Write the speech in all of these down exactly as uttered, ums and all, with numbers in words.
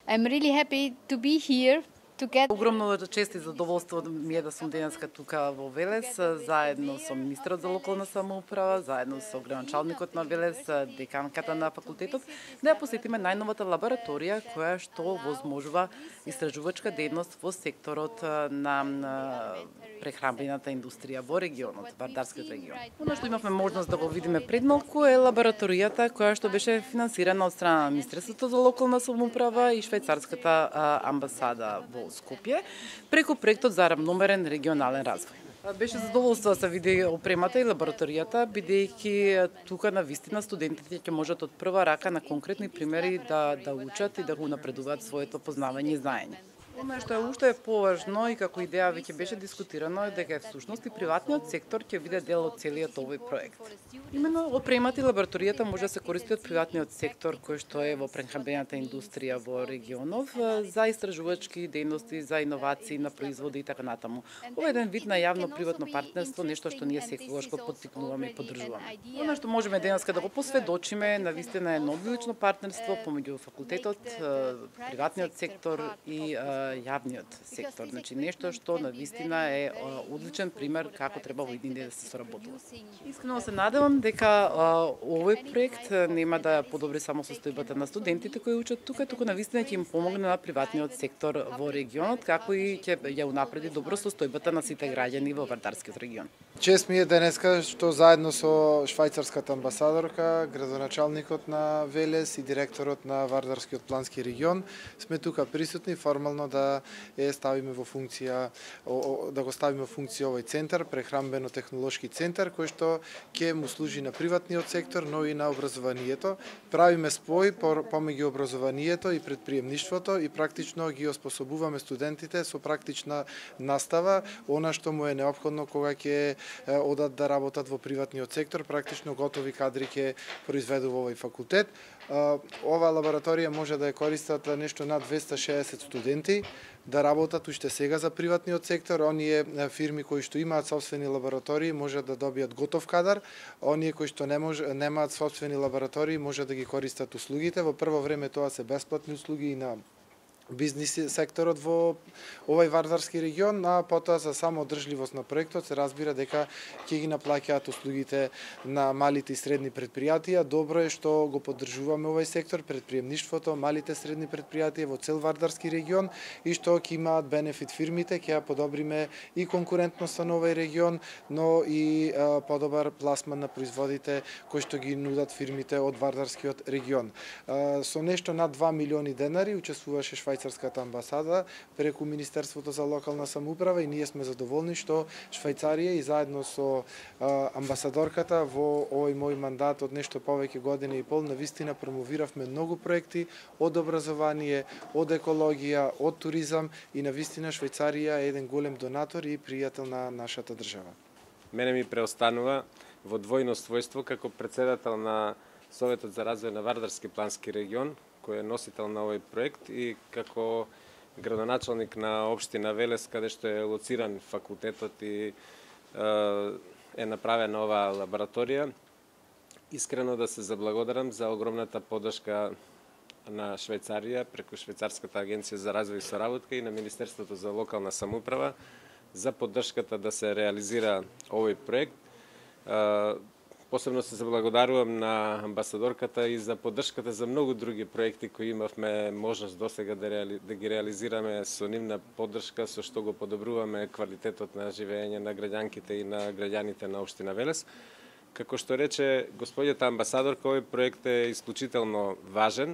I'm really happy to be here. Огромно чест и задоволство ми е да сум денеска тука во Велес, заедно со министерот за локална самоуправа, заедно со градоначалникот на Велес, деканката на факултетот, да ја посетиме најновата лабораторија која што возможува истражувачка дејност во секторот на прехрамбената индустрија во регионот, Вардарскиот регион. Оно што имавме можност да го видиме пред малку е лабораторијата која што беше финансирана од страна на Министерството за локална самоуправа и швајцарската амбасада во Скопје, преку проектот за рамномерен регионален развој. Беше задоволство да се види опремата и лабораторијата, бидејќи тука на вистина студентите ќе можат од прва рака на конкретни примери да да учат и да го напредуваат своето познавање и знаење. Оно што е уште е поважно и како идеја веќе беше дискутирано е дека всушност и приватниот сектор ќе биде дел од целиот овој проект. Именно опремата и лабораторијата може да се користи од приватниот сектор кој што е во прехрамбената индустрија во регионов за истражувачки дејности, за иновации на производи и така натаму. Ова е еден вид на јавно-приватно партнерство, нешто што ние секогаш го поттикнуваме и поддржуваме. Оно што можеме денеска да го посведочиме на вистина е едно одлично партнерство помеѓу факултетот, приватниот сектор и јавниот сектор. Значи нешто што на вистина е одличен пример како треба во иднини да се соработува. Искрено се надевам дека овој проект нема да подобри само состојбата на студентите кои учат тука, туку на вистина ќе им помогне на приватниот сектор во регионот, како и ќе ја унапреди добро состојбата на сите граѓани во Вардарскиот регион. Чест ми е денеска што заедно со швајцарската амбасадорка, градоначалникот на Велес и директорот на Вардарскиот плански регион сме тука присутни формално да да е ставиме во функција да го ставиме во функција овој центар, прехрамбено-технолошки центар кој што ќе му служи на приватниот сектор, но и на образованието. Правиме спој помеѓу образованието и предприемништвото и практично ги оспособуваме студентите со практична настава, она што му е неопходно кога ќе одат да работат во приватниот сектор, практично готови кадри ќе произведува овој факултет. Ова лабораторија може да ја користат нешто над двесте и шеесет студенти, да работат уште сега за приватниот сектор. Оние фирми кои што имаат сопствени лаборатории може да добијат готов кадар, оние кои што не може, немаат сопствени лаборатории може да ги користат услугите. Во прво време тоа се бесплатни услуги и на бизнис секторот во овој Вардарски регион, а потоа за само одржливост на проектот се разбира дека ќе ги наплаќаат услугите на малите и средни предпријатија. Добро е што го поддржуваме овој сектор, предприемништвото, малите и средни предпријатија во цел Вардарски регион и што ќе имаат бенефит фирмите, ќе ја подобриме и конкурентноста на овој регион, но и а, подобар пласман на производите кои што ги нудат фирмите од Вардарскиот регион. А, со нешто над два милиони денари учествуваше швајцарската амбасада преку Министерството за локална самоуправа и ние сме задоволни што Швајцарија и заедно со а, амбасадорката во овој мој мандат од нешто повеќе година и пол навистина промовиравме многу проекти од образование, од екологија, од туризам и навистина Швајцарија е еден голем донатор и пријател на нашата држава. Мене ми преостанува во двојно својство како претседател на Советот за развој на Вардарски плански регион, кој е носител на овој проект и како градоначалник на општина Велес, каде што е лоциран факултетот и е направена оваа лабораторија. Искрено да се заблагодарам за огромната поддршка на Швајцарија преку Швајцарската агенција за развој и соработка и на Министерството за локална самоуправа за поддршката да се реализира овој проект. Посебно се заблагодарувам на амбасадорката и за поддршката за многу други проекти кои имавме можност досега да, реали, да ги реализираме со нивна поддршка, со што го подобруваме квалитетот на живење на граѓанките и на граѓаните на општина Велес. Како што рече господјата амбасадорка, овој проект е исклучително важен,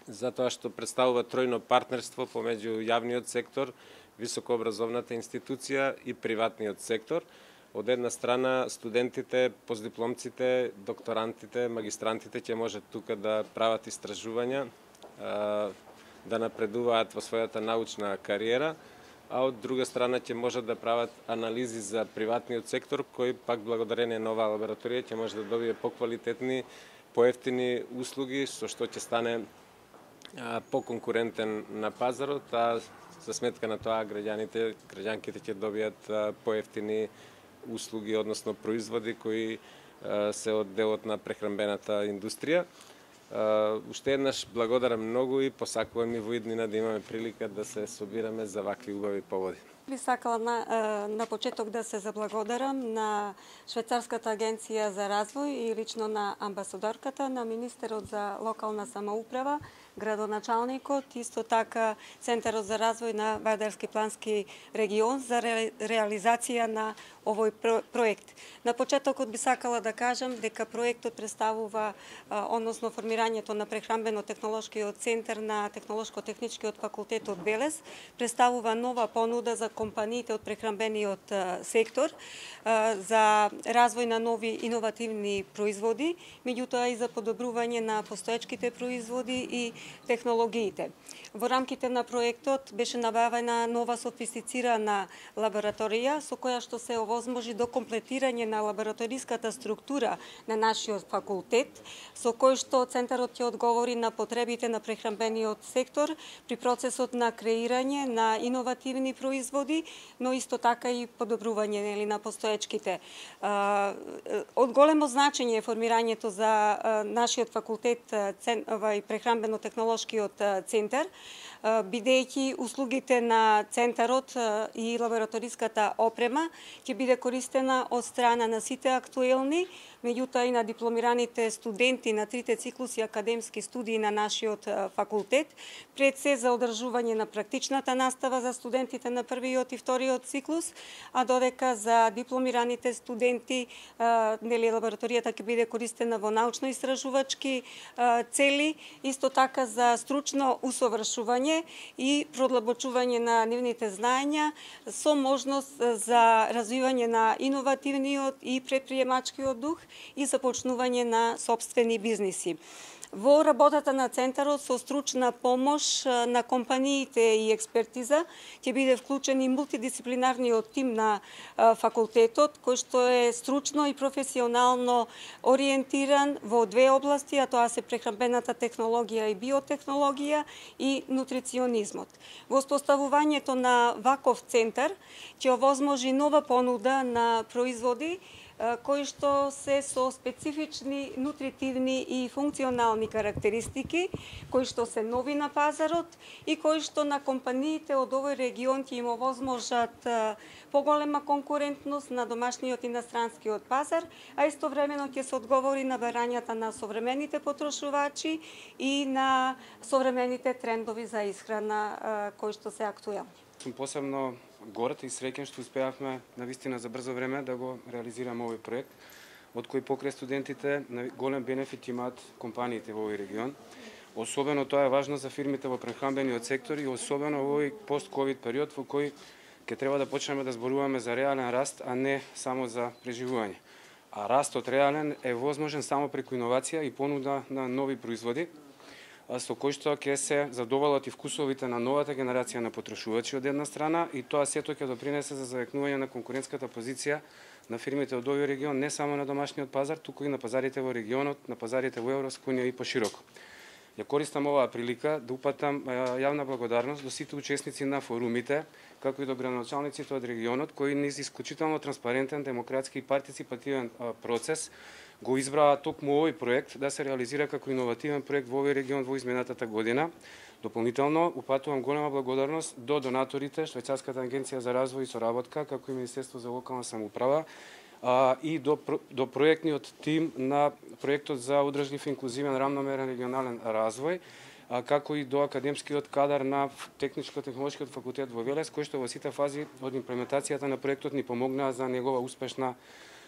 затоа што представува тројно партнерство помеѓу јавниот сектор, високообразовната институција и приватниот сектор. Од една страна, студентите, постдипломците, докторантите, магистрантите ќе можат тука да прават истражувања, да напредуваат во својата научна кариера, а од друга страна ќе можат да прават анализи за приватниот сектор, кој пак благодарение на оваа лабораторија ќе може да добие поквалитетни, поевтини услуги, со што ќе стане поконкурентен на пазарот, а за сметка на тоа граѓаните, граѓанките ќе добијат поевтини услуги, односно производи кои се од делот на прехранбената индустрија. Уште еднаш благодарам многу и посакувам и во иднина да имаме прилика да се собираме за вакви убави поводи. Би сакала на, на почеток да се заблагодарам на Швајцарската агенција за развој и лично на амбасадорката, на министерот за локална самоуправа, градоначалникот, исто така Центарот за развој на Вардарски плански регион за ре, реализација на овој про, проект. На почетокот би сакала да кажам дека проектот представува, односно формирањето на прехранбено-технолошкиот центар на Технолошко-техничкиот факултет од Велес, представува нова понуда за компаниите од прехранбениот сектор за развој на нови иновативни производи, меѓутоа и за подобрување на постоечките производи и технологиите. Во рамките на проектот беше набавена нова софистицирана лабораторија со која што се овозможи до комплетирање на лабораториската структура на нашиот факултет, со кој што центарот ќе одговори на потребите на прехранбениот сектор при процесот на креирање на иновативни производи, но исто така и подобрување нели на постоечките. Од големо значење е формирањето за нашиот факултет овај прехранбено-технолошкиот центар, бидејќи услугите на центарот и лабораториската опрема ќе биде користена од страна на сите актуелни, меѓутоа и на дипломираните студенти на трите циклуси академски студии на нашиот факултет, пред се за одржување на практичната настава за студентите на првиот и вториот циклус, а додека за дипломираните студенти нели лабораторијата ќе биде користена во научно-истражувачки цели, исто така за стручно усовршување и продлабочување на нивните знаења со можност за развивање на иновативниот и предприемачкиот дух и започнување на сопствени бизниси. Во работата на центарот со стручна помош на компаниите и експертиза ќе биде вклучен и мултидисциплинарниот тим на факултетот, кој што е стручно и професионално ориентиран во две области, а тоа се прехранбената технологија и биотехнологија и нутриционизмот. Во успоставувањето на ваков центар ќе овозможи нова понуда на производи кои што се со специфични нутритивни и функционални карактеристики, кои што се нови на пазарот и кои што на компаниите од овој регион ќе им овозможат поголема конкурентност на домашниот и на странскиот пазар, а истовремено ќе се одговори на барањата на современите потрошувачи и на современите трендови за исхрана кои што се актуелни. Сум посебно горд и среќен што успеавме навистина за брзо време да го реализираме овој проект, од кој покрај студентите голем бенефит имаат компаниите во овој регион. Особено тоа е важно за фирмите во прехранбениот сектор и особено во овој пост-ковид период во кој ќе треба да почнеме да зборуваме за реален раст, а не само за преживување. А растот реален е возможен само преку иновација и понуда на нови производи, со кој што ќе се задоволат и вкусовите на новата генерација на потрошувачи од една страна и тоа сето ќе допринесе за завекнување на конкурентската позиција на фирмите од овој регион, не само на домашниот пазар, туку и на пазарите во регионот, на пазарите во Европска унија и пошироко. Ја користам оваа прилика да упатам јавна благодарност до сите учесници на форумите, како и до градоначалниците од регионот, кои низ исклучително транспарентен, демократски и партиципативен процес го избраа токму овој проект да се реализира како иновативен проект во овој регион во изминатата година. Дополнително упатувам голема благодарност до донаторите, Швајцарската агенција за развој и соработка, како и Министерство за локална самоуправа, а, и до, до проектниот тим на проектот за одржлив инклузивен рамномерен регионален развој, а, како и до академскиот кадар на Техничко-технолошкиот факултет во Велес, кој што во сите фази од имплементацијата на проектот ни помогнаа за негова успешна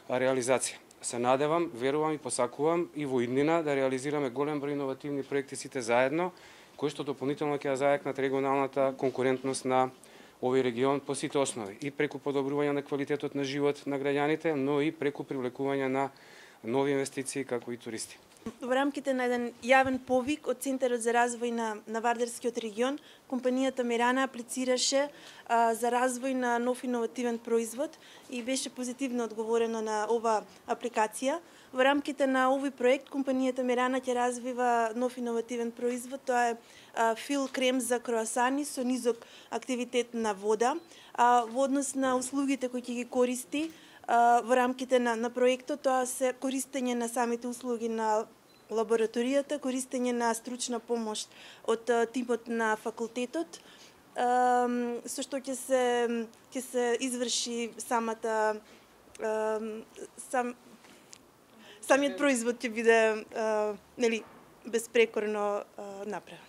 реализација. Се надевам, верувам и посакувам и во иднина да реализираме голем број иновативни проекти сите заедно, кои што дополнително ќе зајакнат регионалната конкурентност на овој регион по сите основи, и преку подобрување на квалитетот на живот на граѓаните, но и преку привлекување на нови инвестиции како и туристи. Во рамките на еден јавен повик од Центарот за развој на, на Вардарскиот регион, компанијата Мерана аплицираше а, за развој на нов иновативен производ и беше позитивно одговорено на ова апликација. Во рамките на овој проект, компанијата Мерана ќе развива нов иновативен производ, тоа е а, фил крем за круасани со низок активитет на вода. А, во однос на услугите кои ќе ги користи, во рамките на, на проектот, тоа се користење на самите услуги на лабораторијата, користење на стручна помош од тимот на факултетот, со што ќе се ќе се изврши самата сам самиот производ ќе биде нели безпрекорно направен.